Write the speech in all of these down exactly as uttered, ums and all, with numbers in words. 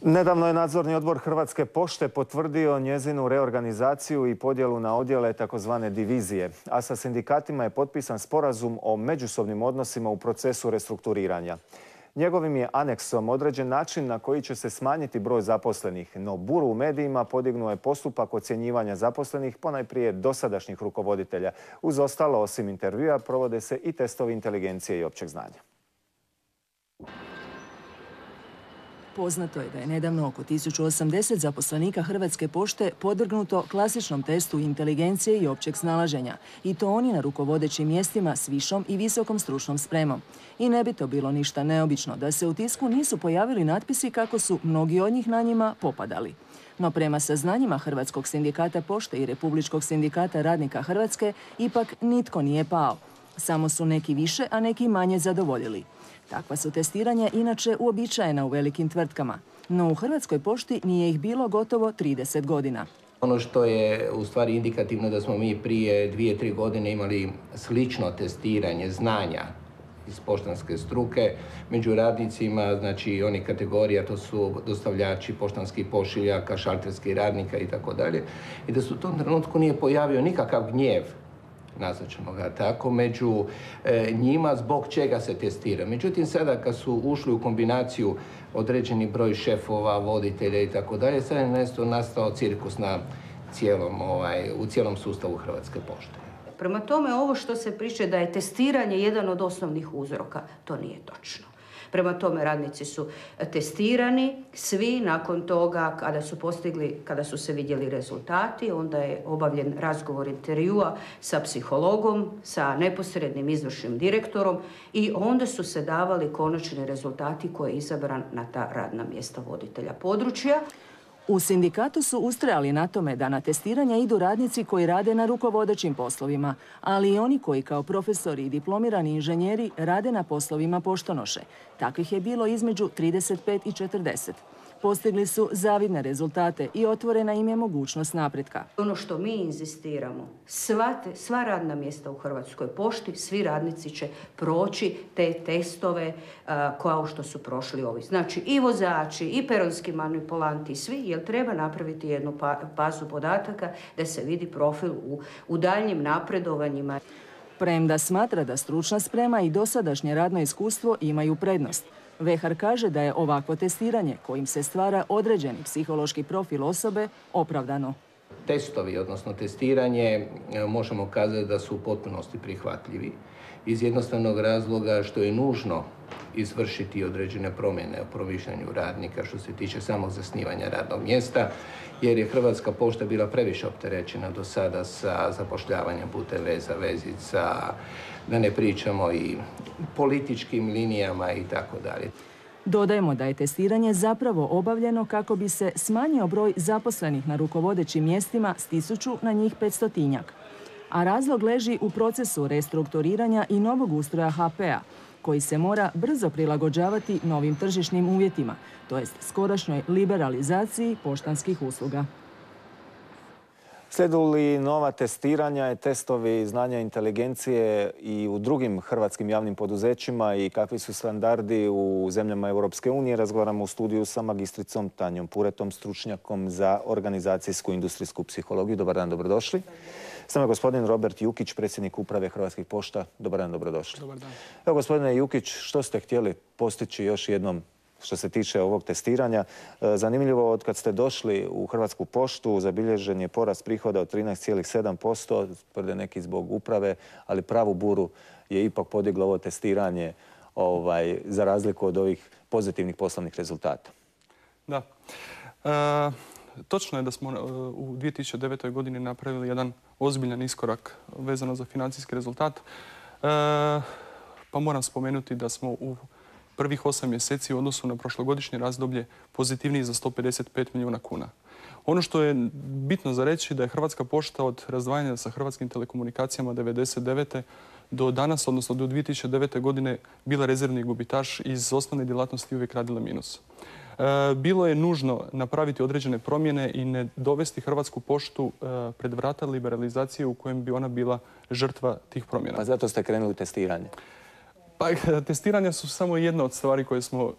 Nedavno je Nadzorni odbor Hrvatske pošte potvrdio njezinu reorganizaciju i podjelu na odjele takozvane divizije, a sa sindikatima je potpisan sporazum o međusobnim odnosima u procesu restrukturiranja. Njegovim je aneksom određen način na koji će se smanjiti broj zaposlenih, no buru u medijima podignuo je postupak ocjenjivanja zaposlenih ponajprije dosadašnjih rukovoditelja. Uz ostalo, osim intervjua, provode se i testovi inteligencije i općeg znanja. Poznato je da je nedavno oko tisuću osamdeset zaposlenika Hrvatske pošte podvrgnuto klasičnom testu inteligencije i općeg snalaženja, i to oni na rukovodećim mjestima s višom i visokom stručnom spremom. I ne bi to bilo ništa neobično da se u tisku nisu pojavili natpisi kako su mnogi od njih na njima popadali. No prema saznanjima Hrvatskog sindikata pošte i Republičkog sindikata radnika Hrvatske ipak nitko nije pao. Samo su neki više, a neki manje zadovoljili. Takva su testiranja inače uobičajena u velikim tvrtkama, no u Hrvatskoj pošti nije ih bilo gotovo trideset godina. Ono što je u stvari indikativno da smo mi prije dvije, tri godine imali slično testiranje znanja iz poštanske struke među radnicima, znači oni kategorija, to su dostavljači poštanskih pošiljaka, šalterskih radnika i tako dalje, i da se u tom trenutku nije pojavio nikakav gnjev, nazvaćemo ga tako, među e, njima zbog čega se testira. Međutim, sada kad su ušli u kombinaciju određeni broj šefova, voditelja i tako dalje, sada je nešto nastao cirkus na cijelom, ovaj, u cijelom sustavu Hrvatske pošte. Prema tome, ovo što se priča da je testiranje jedan od osnovnih uzroka, to nije točno. Prema tome, radnici su testirani, svi nakon toga kada su postigli, kada su se vidjeli rezultati, onda je obavljen razgovor intervjua sa psihologom, sa neposrednim izvršnim direktorom i onda su se davali konačni rezultati koji je izabran na ta radna mjesta voditelja područja. U sindikatu su ustrajali na tome da na testiranja idu radnici koji rade na rukovodećim poslovima, ali i oni koji kao profesori i diplomirani inženjeri rade na poslovima poštonoše. Takvih je bilo između trideset pet i četrdeset. Postigli su zavidne rezultate i otvorena im je mogućnost napretka. Ono što mi inzistiramo, sva, te, sva radna mjesta u Hrvatskoj pošti, svi radnici će proći te testove uh, kao što su prošli ovi. Znači i vozači, i peronski manipulanti, svi, jer treba napraviti jednu pa, bazu podataka da se vidi profil u, u daljnjim napredovanjima. Premda smatra da stručna sprema i dosadašnje radno iskustvo imaju prednost. Vehar kaže da je ovakvo testiranje kojim se stvara određeni psihološki profil osobe opravdano. Testovi, odnosno testiranje, možemo kazati da su u potpunosti prihvatljivi iz jednostavnog razloga što je nužno izvršiti određene promjene u promišljanju radnika što se tiče samog zasnivanja radnog mjesta, jer je Hrvatska pošta bila previše opterećena do sada sa zapošljavanjem putem veza, vezica, da ne pričamo i političkim linijama i tako dalje. Dodajemo da je testiranje zapravo obavljeno kako bi se smanjio broj zaposlenih na rukovodećim mjestima s tisuću na njih petstotinjak. A razlog leži u procesu restrukturiranja i novog ustroja ha pe-a, koji se mora brzo prilagođavati novim tržišnim uvjetima, to jest skorašnjoj liberalizaciji poštanskih usluga. Slijedu li nova testiranja i testovi znanja inteligencije i u drugim hrvatskim javnim poduzećima i kakvi su standardi u zemljama Europske unije, razgovaramo u studiju sa magistricom Tanjom Puretom, stručnjakom za organizacijsku industrijsku psihologiju. Dobar dan, dobrodošli. S nama je gospodin Robert Jukić, predsjednik uprave Hrvatskih pošta. Dobar dan, dobrodošli. Dobar dan. Evo, gospodine Jukić, što ste htjeli postići još jednom što se tiče ovog testiranja? Zanimljivo, od kad ste došli u Hrvatsku poštu, zabilježen je porast prihoda od trinaest zarez sedam posto, tvrde neki zbog uprave, ali pravu buru je ipak podiglo ovo testiranje ovaj, za razliku od ovih pozitivnih poslovnih rezultata. Da. E, točno je da smo u dvije tisuće devetoj. godini napravili jedan ozbiljan iskorak vezano za financijski rezultat. E, pa moram spomenuti da smo u prvih osam mjeseci u odnosu na prošlogodišnje razdoblje pozitivniji za sto pedeset pet milijuna kuna. Ono što je bitno za reći da je Hrvatska pošta od razdvajanja sa Hrvatskim telekomunikacijama devedeset devete. do danas, odnosno do dvije tisuće devete. godine, bila rezervni gubitaš iz osnovne djelatnosti uvijek radila minus. E, bilo je nužno napraviti određene promjene i ne dovesti Hrvatsku poštu e, pred vrata liberalizacije u kojem bi ona bila žrtva tih promjena. Pa zato ste krenuli testiranje? Pa, testiranja su samo jedna od stvari koje, smo,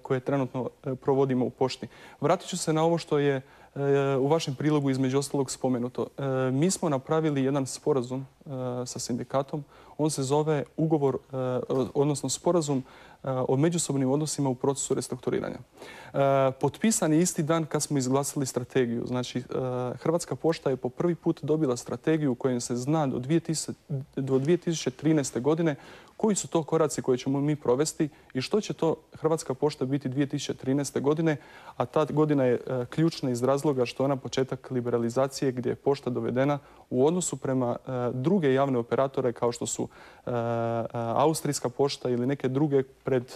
koje trenutno provodimo u pošti. Vratit ću se na ovo što je u vašem prilogu između ostalog spomenuto. Mi smo napravili jedan sporazum sa sindikatom. On se zove ugovor, odnosno sporazum o međusobnim odnosima u procesu restrukturiranja. Potpisan je isti dan kad smo izglasali strategiju. Znači, Hrvatska pošta je po prvi put dobila strategiju kojom se zna do dvije tisuće trinaeste. godine koji su to koraci koje ćemo mi provesti i što će to Hrvatska pošta biti dvije tisuće trinaeste. godine, a ta godina je ključna iz razloga što je ona početak liberalizacije gdje je pošta dovedena u odnosu prema druge javne operatore kao što su Austrijska pošta ili neke druge pred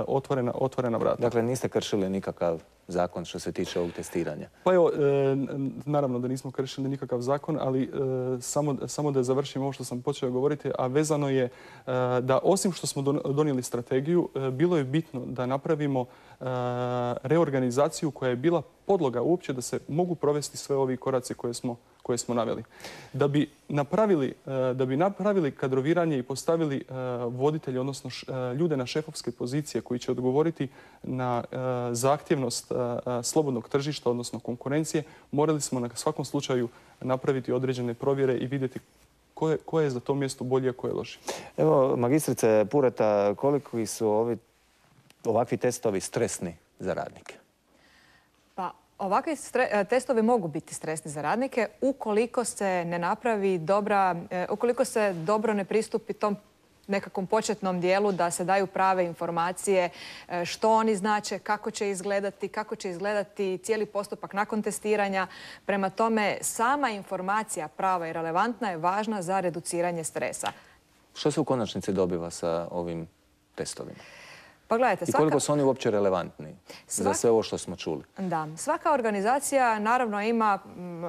otvorena, otvorena vrata. Dakle, niste kršili nikakav zakon što se tiče ovog testiranja? Pa evo, naravno da nismo kršili nikakav zakon, ali samo, samo da završim ovo što sam počeo govoriti, a vezano je da osim što smo donijeli strategiju, bilo je bitno da napravimo reorganizaciju koja je bila podloga uopće da se mogu provesti sve ovi koraci koje smo koje smo naveli. Da bi napravili, da bi napravili kadroviranje i postavili voditelje, odnosno ljude na šefovske pozicije koji će odgovoriti na zahtjevnost slobodnog tržišta, odnosno konkurencije, morali smo na svakom slučaju napraviti određene provjere i vidjeti ko je, ko je za to mjesto bolje, a ko je loši. Evo, magistrice Pureta, koliko su ovi, ovakvi testovi stresni za radnike? Pa, ovakvi testovi mogu biti stresni za radnike ukoliko se ne napravi dobra, ukoliko se dobro ne pristupi tom nekakvom početnom dijelu da se daju prave informacije što oni znače, kako će izgledati, kako će izgledati cijeli postupak nakon testiranja. Prema tome, sama informacija prava i relevantna je važna za reduciranje stresa. Što se u konačnici dobiva sa ovim testovima? Pa gledajte, i koliko su oni uopće relevantni svaka... za sve ovo što smo čuli? Da. Svaka organizacija naravno ima,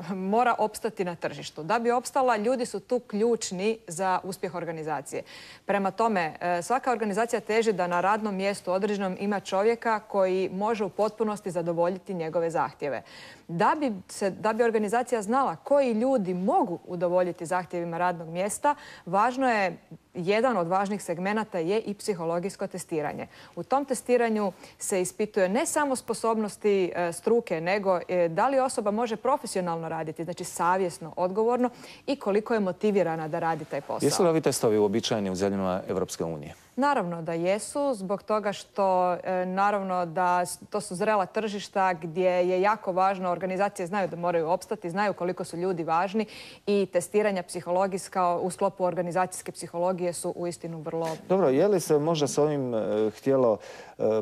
mora opstati na tržištu. Da bi opstala, ljudi su tu ključni za uspjeh organizacije. Prema tome, svaka organizacija teži da na radnom mjestu određenom ima čovjeka koji može u potpunosti zadovoljiti njegove zahtjeve. Da bi, se, da bi organizacija znala koji ljudi mogu udovoljiti zahtjevima radnog mjesta, važno je, jedan od važnih segmenata je i psihologijsko testiranje. U tom testiranju se ispituje ne samo sposobnosti struke, nego da li osoba može profesionalno raditi, znači savjesno, odgovorno i koliko je motivirana da radi taj posao. Jesu li ovi testovi uobičajeni u zemljama Europske unije? Naravno da jesu, zbog toga što naravno da to su zrela tržišta gdje je jako važno, organizacije znaju da moraju opstati, znaju koliko su ljudi važni i testiranja psihologijska u sklopu organizacijske psihologije su uistinu vrlo... Dobro, je li se možda s ovim htjelo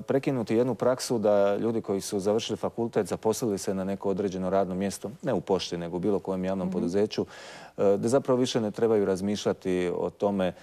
prekinuti jednu praksu da ljudi koji su završili fakultet zaposlili se na neko određeno radno mjesto, ne u pošti, nego u bilo kojem javnom mm-hmm. poduzeću, da zapravo više ne trebaju razmišljati o tome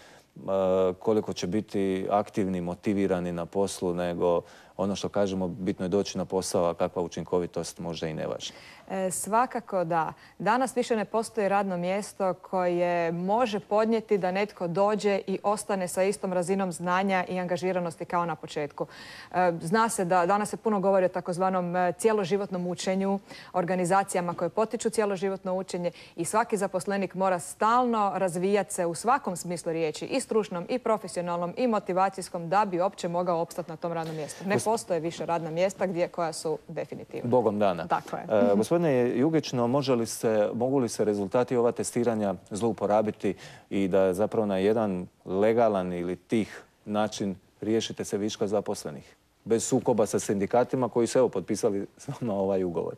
koliko će biti aktivni, motivirani na poslu, nego ono što kažemo, bitno je doći na posao, a kakva učinkovitost možda i ne važna. E, svakako da. Danas više ne postoji radno mjesto koje može podnijeti da netko dođe i ostane sa istom razinom znanja i angažiranosti kao na početku. E, zna se da danas se puno govori o takozvanom cjeloživotnom učenju, organizacijama koje potiču cjeloživotno učenje i svaki zaposlenik mora stalno razvijati se u svakom smislu riječi, i stručnom, i profesionalnom, i motivacijskom, da bi uopće mogao opstati na tom radnom mjestu. Ne postoje više radna mjesta gdje koja su definitivna. Bogom dana. Tako je. E, gospodine Jugično, može li se, mogu li se rezultati ova testiranja zlouporabiti i da zapravo na jedan legalan ili tih način riješite se viška zaposlenih? Bez sukoba sa sindikatima koji su evo potpisali na ovaj ugovor.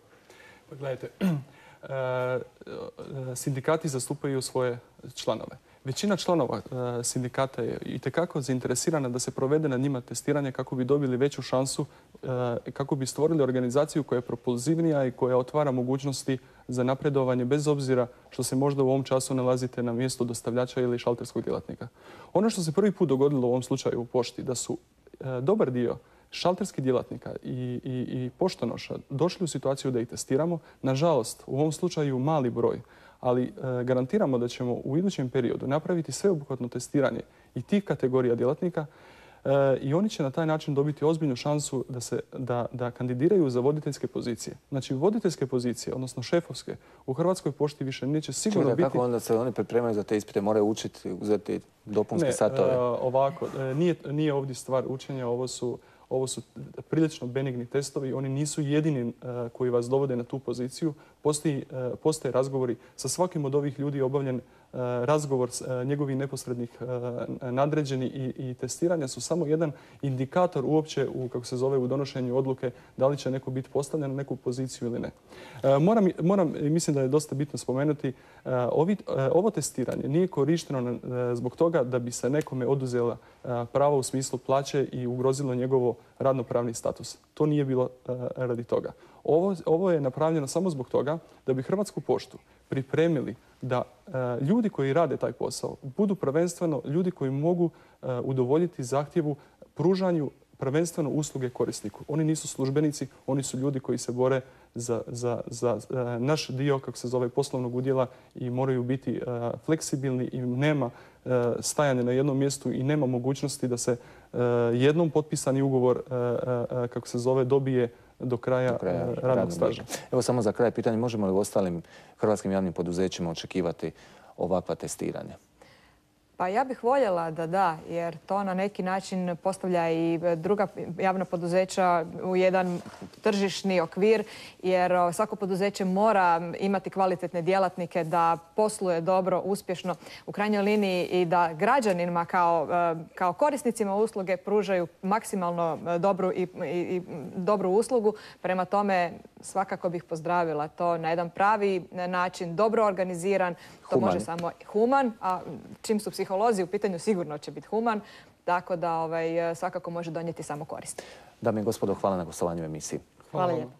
Pa gledajte, sindikati zastupaju svoje članove. Većina članova e, sindikata je itekako zainteresirana da se provede na njima testiranje kako bi dobili veću šansu, e, kako bi stvorili organizaciju koja je propulzivnija i koja otvara mogućnosti za napredovanje bez obzira što se možda u ovom času nalazite na mjestu dostavljača ili šalterskog djelatnika. Ono što se prvi put dogodilo u ovom slučaju u pošti, da su e, dobar dio šalterskih djelatnika i, i, i poštonoša došli u situaciju da ih testiramo. Nažalost, u ovom slučaju mali broj, ali e, garantiramo da ćemo u idućem periodu napraviti sveobuhvatno testiranje i tih kategorija djelatnika. I oni će na taj način dobiti ozbiljnu šansu da se da, da kandidiraju za voditeljske pozicije. Znači, voditeljske pozicije, odnosno šefovske, u Hrvatskoj pošti više neće sigurno Čekaj, biti... Kako onda se oni pripremaju za te ispite? Moraju učiti, uzeti dopunske ne, satove? Ne, ovako. Nije, nije ovdje stvar učenja, ovo su... Ovo su prilično benigni testovi, oni nisu jedini uh, koji vas dovode na tu poziciju. Postoji, uh, postoje razgovori sa svakim od ovih ljudi, obavljen uh, razgovor s uh, njegovih neposrednih uh, nadređeni i, i testiranja su samo jedan indikator uopće u, kako se zove, u donošenju odluke da li će neko biti postavljen na neku poziciju ili ne. Uh, moram, moram, mislim da je dosta bitno spomenuti, uh, ovi, uh, ovo testiranje nije korišteno uh, zbog toga da bi se nekome oduzela uh, pravo u smislu plaće i ugrozilo njegovo radnopravni status. To nije bilo uh, radi toga. Ovo, ovo je napravljeno samo zbog toga da bi Hrvatsku poštu pripremili da uh, ljudi koji rade taj posao budu prvenstveno ljudi koji mogu uh, udovoljiti zahtjevu pružanju prvenstveno usluge korisniku. Oni nisu službenici, oni su ljudi koji se bore za, za, za uh, naš dio, kako se zove, poslovnog udjela i moraju biti uh, fleksibilni i nema uh, stajanja na jednom mjestu i nema mogućnosti da se uh, jednom potpisani ugovor, uh, uh, kako se zove, dobije do kraja, do kraja uh, radnog staža. Evo samo za kraj pitanje, možemo li u ostalim hrvatskim javnim poduzećima očekivati ovakva testiranja? Pa ja bih voljela da da, jer to na neki način postavlja i druga javna poduzeća u jedan tržišni okvir, jer svako poduzeće mora imati kvalitetne djelatnike da posluje dobro, uspješno u krajnjoj liniji i da građanima kao, kao korisnicima usluge pružaju maksimalno dobru i, i, i dobru uslugu. Prema tome svakako bih pozdravila to na jedan pravi način, dobro organiziran, to human. može samo human, a čim su psiholozi u pitanju sigurno će biti human, tako da ovaj, svakako može donijeti samo korist. Dame i gospodo, hvala na gostovanju u emisiji. Hvala lijepo.